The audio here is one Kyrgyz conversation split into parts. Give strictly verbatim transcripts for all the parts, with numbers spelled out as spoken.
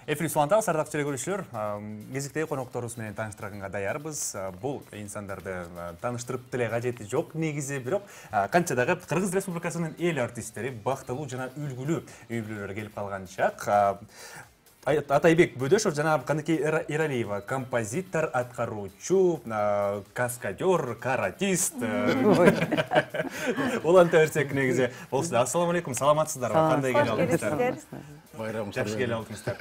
Эфир Суантал сардак көрүүчүлөр, кезиктеги конокторубуз менен тааныштырганга даярбыз. Бул инсандарды тааныштырып деле кажети жок негизи, бирок канча дагы Кыргыз Республикасынын эл артисттери бактылуу жана үлгүлүү үй-бүлөлөр келип калган чак. Атайбек Бөдөшов жана Каныкей Эралиева композитор, аткаруучу, каскадер, каратист. Уланта берсек негизи болсун. Ассаламу алейкум, саламатсыздарбы? Кандай келип алдыңыздар? Байрам жакшы келип алдыңыздар.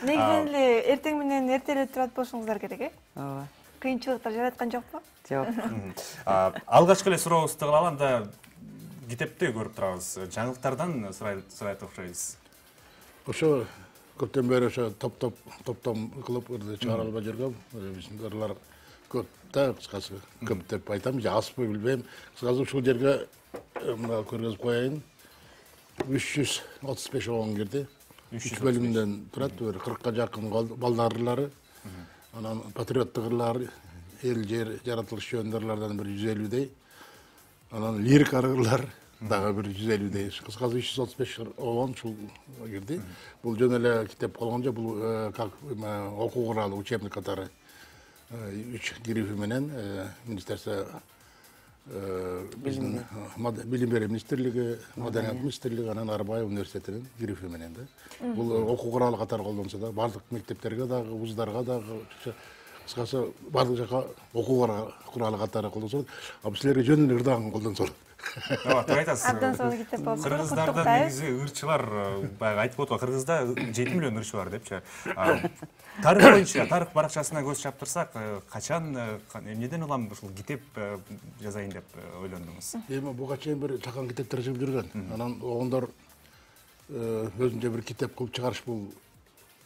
Негизинен эле эртең менен эрте эле турат болушуңуздар керек, э? Ооба. Кыйынчылыктар жараткан жокпу? Жок. Алгачкы эле сурообузду кылалы, анда китепти көрүп турабыз. Жаңылыктардан сурайт окшойбуз. Ошо көптөн бери ошо топ-топ топтом кылып чыгара албай жүргөм. Биздин ырлар көп да, кыскасы көп деп айтам, же азбы билбейм. Кыскасы ушул жерге мына көргөзүп коеюн. үч жүз отуз беш огон кирди. үч бөлүмдөн турат, бир кыркка жакын балдар ырлары. Анан патриоттук ырлар, эл жер жаратылыш жөнүндө ырлардан бир жүз элүүдөй. Анан лирик ырлар дагы бир жүз элүүдөй. Кыскасы үч жүз отуз беш огон ушул кирди. Бул жөн эле китеп болгон жок, бул как окуу куралы, учебник катары үч грифи менен министерство биздин билим берүү министрлиги, маданият министрлиги, анан Арбаев университетинин грифи менен да. Бул окуу куралы катары колдонсо да, бардык мектептерге дагы, вуздарга дагы, кыскасы бардык жака окуу куралы катары колдонсо, а силерге жөн эле ырдаган колдонсо. Ооба, туура айтасыз. Абдан сонун китеп болуп туруп. Кыргыздарда негизи ырчылар, баягы айтып отко, Кыргызда жети миллион ырчы бар депчи. Тарых боюнча, тарых баракчасына көз чаптырсак, качан, эмнеден улам ушул китеп жазайын деп ойлондуңуз? Эми буга чейин бир чакан китептер жазып жүргөн. Анан огондор өзүнчө бир китеп кылып чыгарыш бул.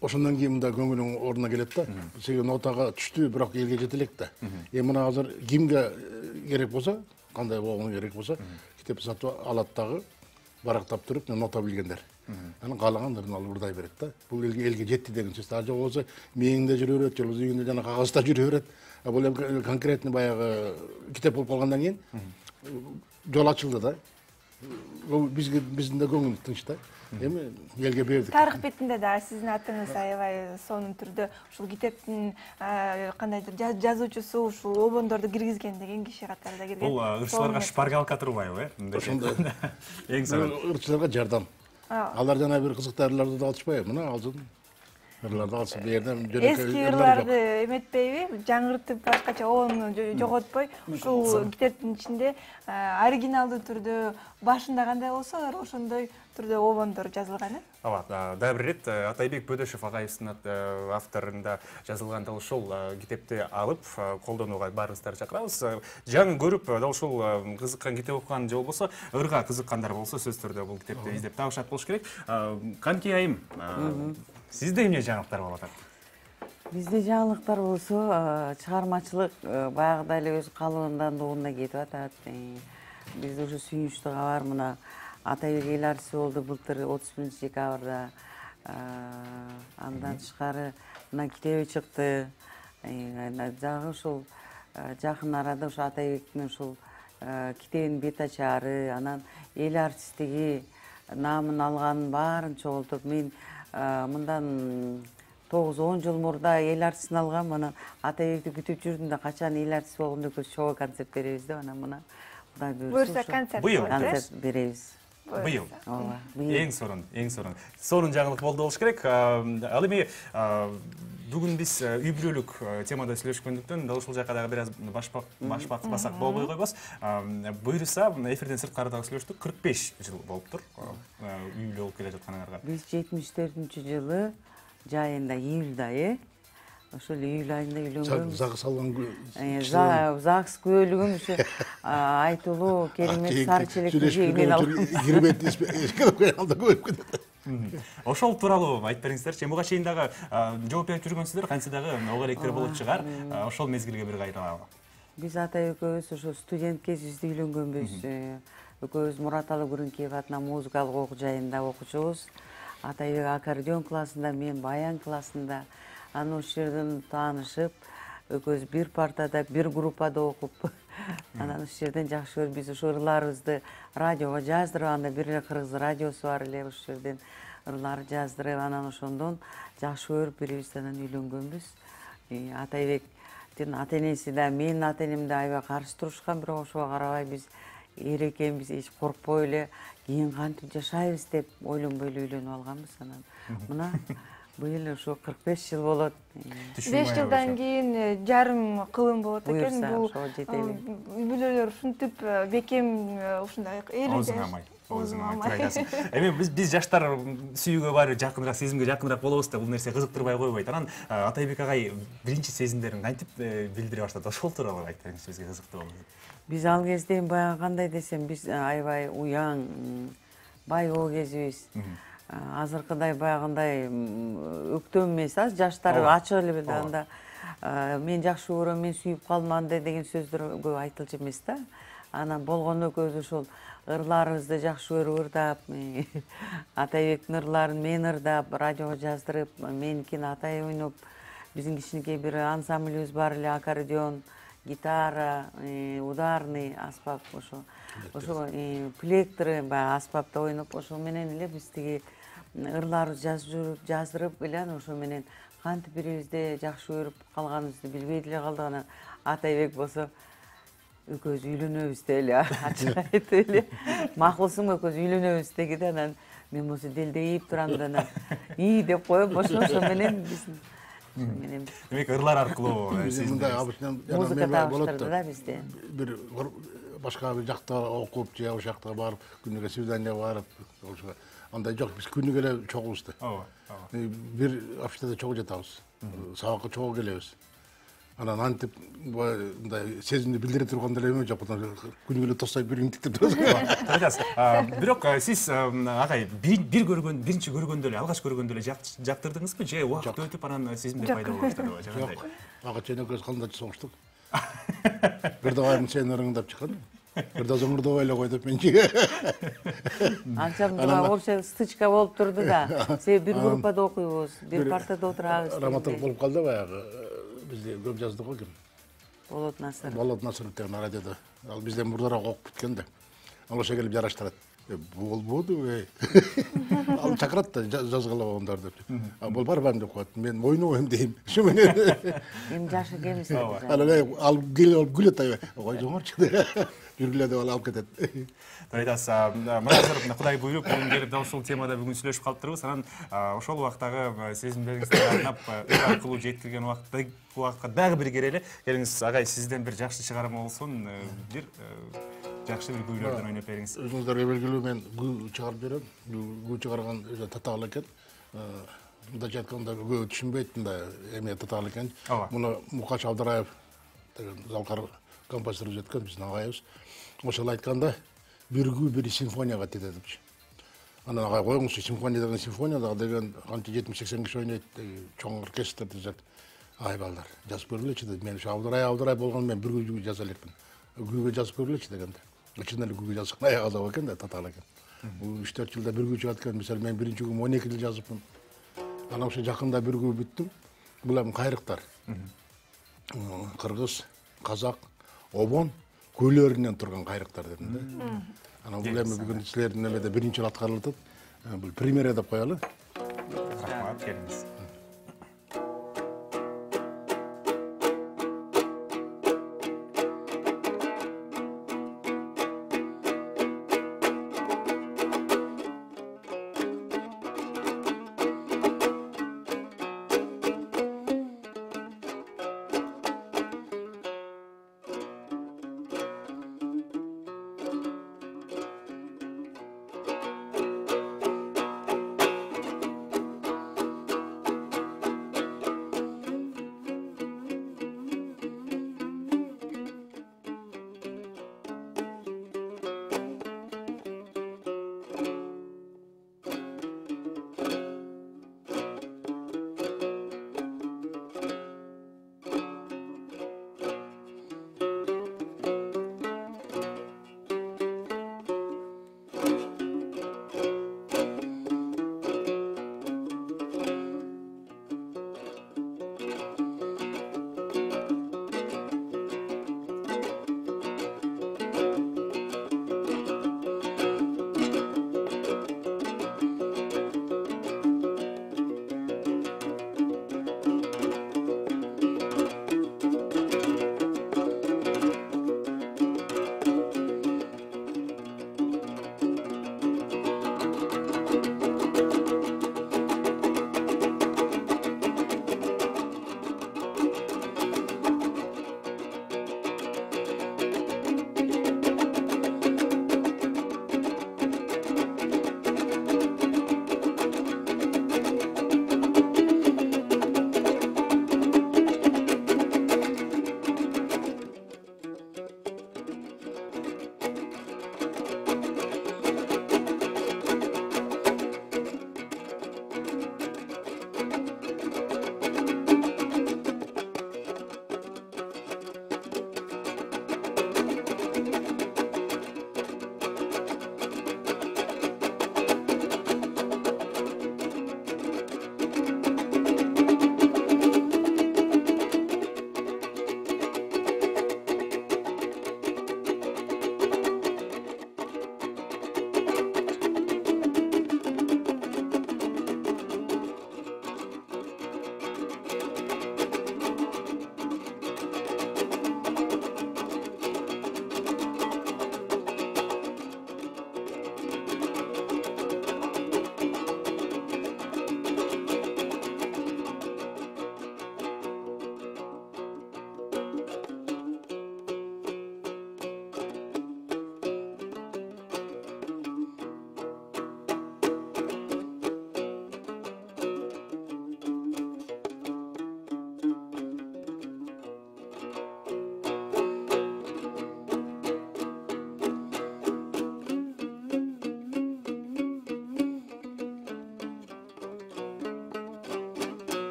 Ошондон кийин мында көңүлүң ордуна келет да. Себеби нотага түштү, бирок элге жете элек да. Эми мына азыр кимге керек болсо, кандай болгону керек болсо, китеп сатып алат дагы, барактап туруп, нота билгендер. Анан каалагандарын алып ырдай берет да. Бул элге элге жетти деген сөз. А жок болсо, мээңде жүрө берет, же болбосо үйүндө жана кагазда жүрө берет. А бул эми конкретный баягы китеп болуп калгандан кийин жол ачылды да. Бизге биздин да көңүл тынч да. Эми элге бердик. Тарых бетинде да сиздин атыңыз аябай сонун түрдө ушул китептин кандайдыр жазуучусу ушул обондорду киргизген деген киши катарында кирген. Бул ырчыларга шпаргалка турбайбы, э? Ошондой. Эң сонун. Ырчыларга жардам. Алар жана бир кызыктуу ырларды да алышпайбы? Мына алсын. Ырларды алсын, бу жерден жөнөкөй эски ырларды эметпейби, жаңыртып башкача обону жоготпой, ушул китептин ичинде оригиналдуу түрдө башында кандай болсо, ошондой түрдө обондор жазылган, э? Ооба, дагы бир ирет Атайбек Бөдөшов агайыбыздын авторунда жазылган дал ушул китепти алып колдонууга баарыңыздарды чакырабыз. Жаңы көрүп, дал ушул кызыккан китеп окуган же болбосо ырга кызыккандар болсо сөзсүз түрдө бул китепти издеп табышат болуш керек. Канкей айым, сизде эмне жаңылыктар болуп атат? Бизде жаңылыктар болсо, чыгармачылык баягыдай эле өз калыбынан дууна кетип атат. Бизде ушу сүйүнүчтүү кабар, мына Атайбек эл артисти болду былтыр отуз биринчи декабрда. Андан тышкары мына китеби чыкты. Дагы ушул жакын арада ушу Атайбектин ушул китебинин бет ачары, анан эл артисттиги наамын алганын баарын чогултуп, мен мындан тогуз он жыл мурда эл артистин алгам, анан Атайбекти күтүп жүрдүм да, качан эл артист болгондо көз шоу концерт беребиз деп, анан мына Кудай буюрса концерт концерт беребиз. Быйыл. Ооба. Эң сонун, эң сонун. Сонун жаңылык болду болуш керек. Ал эми бүгүн биз үй-бүлөлүк темада сүйлөшкөндүктөн дал ушул жака дагы бир аз башпак-басак болбой койбос. Буюрса, эфирден сырткары дагы сүйлөштүк. кырк беш жыл болуптур үй бүлө болуп келе жатканыңарга. Биз жетимиш төртүнчү жылы жайында, июлда, э? Ошол июль айында үйлөнгөнбүз. Загс алган ЗАГС күбөлүгүм ушу айтылуу керемет сары челектин жегинен алып кирбет алда көбөйүп кетет. Ошол тууралуу айтып бериңиздерчи. Буга чейин дагы жооп берип жүргөнсүздөр, кантсе дагы ого электер болуп чыгар. Ошол мезгилге бир кайрылалы. Биз Атайбек экөөбүз ошо студент кезибизде үйлөнгөнбүз. Экөөбүз Мурат Алыгүрүнкеев атынан музыкалык окуу жайында окуучубуз. Атайбек аккордеон классында, мен баян классында. Аны ошол жерден таанышып, экөөбүз бир партада, бир группада окуп, анан ошол жерден жакшы көрүп, биз ошо ырларыбызды радиого жаздырып, анда бир эле кыргыз радиосу бар эле, ошол жерден ырлар жаздырып анан ошондон жакшы көрүп бирибиз анан үйлөнгөнбүз. Атайбектин ата энеси да менин ата энем да аябай каршы турушкан, бирок ошого карабай биз эр экенбиз, эч коркпой эле кийин кантип жашайбыз деп ойлонбой эле үйлөнүп алганбыз. Анан мына быйыл ушу кырк беш жыл болот. беш жылдан кийин жарым кылым болот экен. Бул үй бүлөлөр ушинтип бекем ушундай элүү эми биз биз жаштар сүйүүгө баары жакыныраак, сезимге жакыныраак болобуз да, бул нерсе кызыктырбай койбойт. Анан Атайбек агай биринчи сезимдерин кантип билдире баштады? Ошол тууралуу айтып бериңиз, бизге кызыктуу болот. Биз ал кезде баягы кандай десем, биз аябай уяң, байоо кезибиз. Азыркыдай баягындай өктөм эмес, аз жаштар ачык эле бил анда мен жакшы көрөм, мен сүйүп калдым андай деген сөздөр көп айтылчу эмес да. Анан болгону көз ошол ырларыбызды жакшы көрүп ырдап, Атайбектин ырларын мен ырдап, радиого жаздырып, меникин Атай ойноп, биздин кичинекей бир ансамблибиз бар эле, аккордеон, гитара, ударный аспап, ошо ошо плектры баягы аспапта ойноп, ошо менен эле биз тиги ырларыбызды жаздырып эле анан ошо менен кантип бирибизди жакшы көрүп калганыбызды билбей деле калдык. Анан Атайбек болсо экөөбүз үйлөнөбүз деп эле ачык айтып эле, макулсуңбу экөөбүз үйлөнөбүз деги да, анан мен болсо делдейип турам да, анан ии деп коюп, ошо ошо менен биз менен демек ырлар аркылуу мындай музыка табыштырды да бизде. Бир башка бир жакта окуп же ошол жакка барып, күнүгө свиданияга барып, ошо андай жок, биз күнүгө эле чогубуз да. Ооба, ооба. Бир общежитиеде чогуу жатабыз. Сабакка чогуу келебиз. Анан антип мындай сезимди билдире турган деле эме жок, күнүгө эле тосойп бир интиктеп турабыз. Айтасыз. Бирок сиз агай бир көргөн, биринчи көргөндө эле, алгач көргөндө эле жактырдыңызбы же убакыт өтүп анан сезимдер пайда болуп баштадыбы? Жок. Ага чейин экөөбүз кандай соңуштук. Бир дагы сен ырыңдап чыккан. Бир да зоңурдобой эле кой деп менчи. Анча мындай вообще стычка болуп турду да. Себеби бир группада окуйбуз, бир партада отурабыз. Раматов болуп калды баягы. Бизде көп жазды го ким? Болот Насыр. Болот Насыр деген радиода. Ал бизден мурдараак окуп бүткөн да. Ал ошо келип жараштырат. Болбоду эй. Ал чакырат да жазгыла болгондар деп. А бол барбайм деп коет. Мен ойнобойм дейм. Ушу менен. Эми жаш экенбиз. Ал ал келип күлөт ай. Ой жоңорчу деп. Жүргүлө деп алып кетет. Айтасыз, мына азыр Кудай буйруп бүгүн келип дал ушул темада бүгүн сүйлөшүп калыптырбыз. Анан ошол убактагы сезимдериңизди арнап ыр аркылуу жеткирген убакта убакка дагы бир келели. Келиңиз агай, сизден бир жакшы чыгарма болсун, бир жакшы бир күүлөрдөн ойноп бериңиз. Өзүңүздөргө белгилүү, мен күү чыгарып берем. Күү чыгарган өтө татаал экен. Мындайча айтканда көп түшүнбөйт мындай эме татаал экен. Муну Мукаш Абдыраев деген залкар композитор жеткен биздин агайыбыз. Ошол айтканда бир күү бир симфонияга тете депчи. Анан агай коюңузчу, симфония деген симфония деген канча жетимиш сексен киши ойнойт, чоң оркестр десет. Ай балдар, жазып көргүлөчү деп. Мен ушу Абдырай Абдырай болгон мен бир күү жаза элекмин. Күүгө жазып көргүлөчү дегенде. Чын эле күүгө жазган аяк азап экен да, татаал экен. Бул үч төрт жылда бир күү чыгат экен. Мисалы мен биринчи күүм он эки жыл жазыпмын. Анан ошо жакында бир күү бүттүм. Бул эми кайрыктар. Кыргыз, казак, обон көйлөрүнөн турган кайрыктар дедим да. Анан бул эми бүгүн силердин эмеде биринчи жолу аткарылып атат. Бул премьера деп коелу. Рахмат, келиңиз.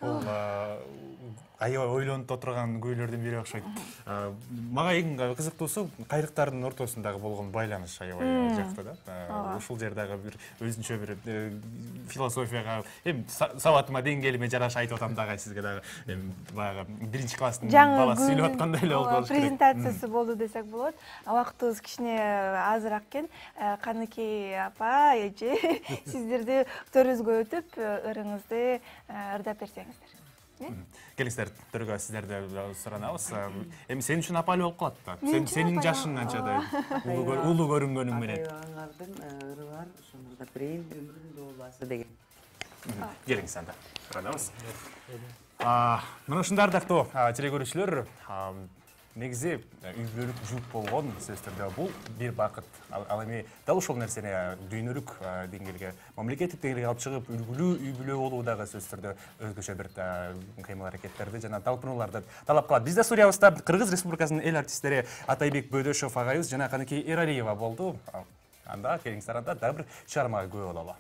Бул аябай ойлонуп отурган күйлөрдүн бири окшойт. Мага эң кызыктуусу кайрыктардын ортосундагы болгон байланыш аябай жакты да. Ушул жер дагы бир өзүнчө бир философияга, эми сабатыма деңгээлиме жараша айтып атам дагы сизге дагы. Эми баягы биринчи класстын баласы сүйлөп аткандай эле болду болуш керек. Презентациясы болду десек болот. Убактыбыз кичине азыраак экен. Каныкей апа, эже, сиздерди төрүбүзгө өтүп, ырыңызды ырдап берсеңиздер. Келиңиздер, төргө сиздерди суранабыз. Эми сен үчүн апалы болуп калат да. Сен сенин жашың анчадай улуу көрүнгөнүң менен. Аңардын ыры бар, ошону ырдап берейин, өмүрүм долбаасы деген. Келиңиз анда, суранабыз. Мына ушундай ардактуу теле көрүүчүлөр, негизи үй бүлөлүк жүк болгон сөзсүз түрдө бул бир бакыт. Ал эми дал ушул нерсени дүйнөлүк деңгээлге, мамлекеттик деңгээлге алып чыгып, үлгүлүү үй бүлө болуу дагы сөзсүз түрдө өзгөчө бир кыймыл-аракеттерди жана талпынууларды талап кылат. Бизде студиябызда Кыргыз Республикасынын эл артисттери Атайбек Бөдөшов агайыбыз жана Каныкей Эралиева болду. Анда келиңиздер, анда дагы бир чыгармага күбө бололу.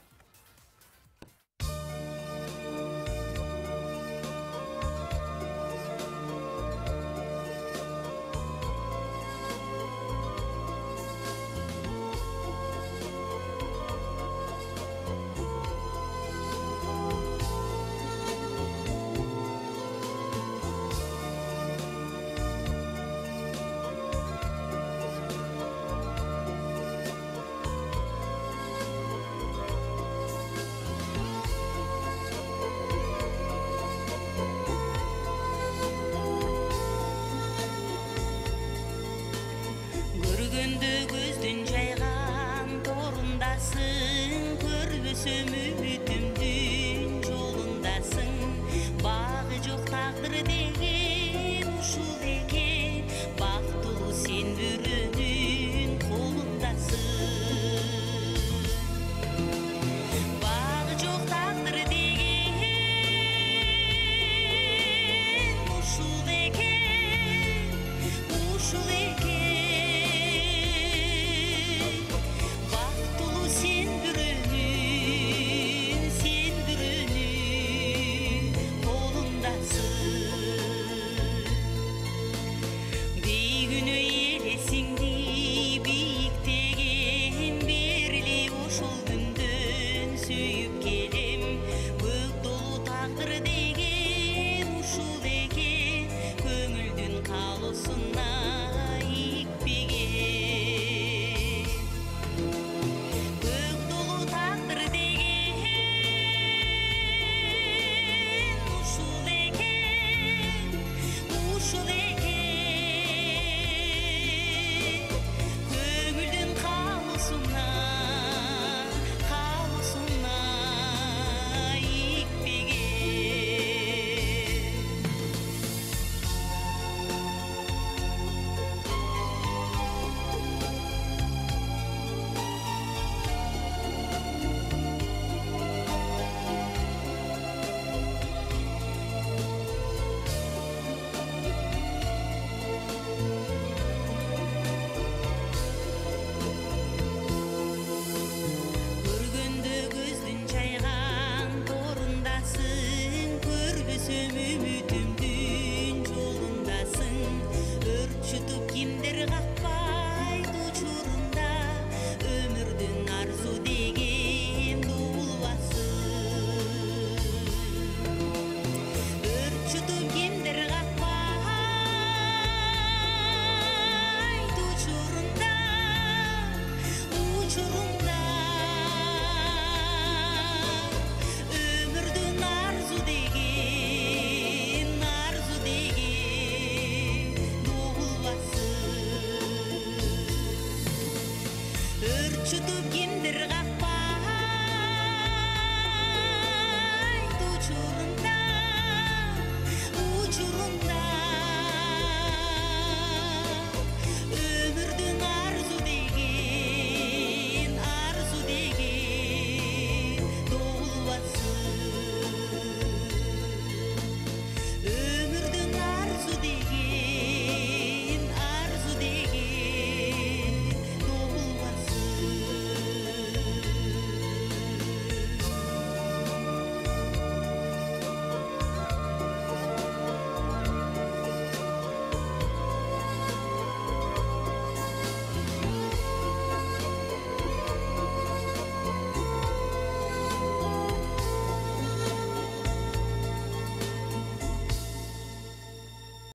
Көздүн жайган торундасың, көрбөсөм үмүтүм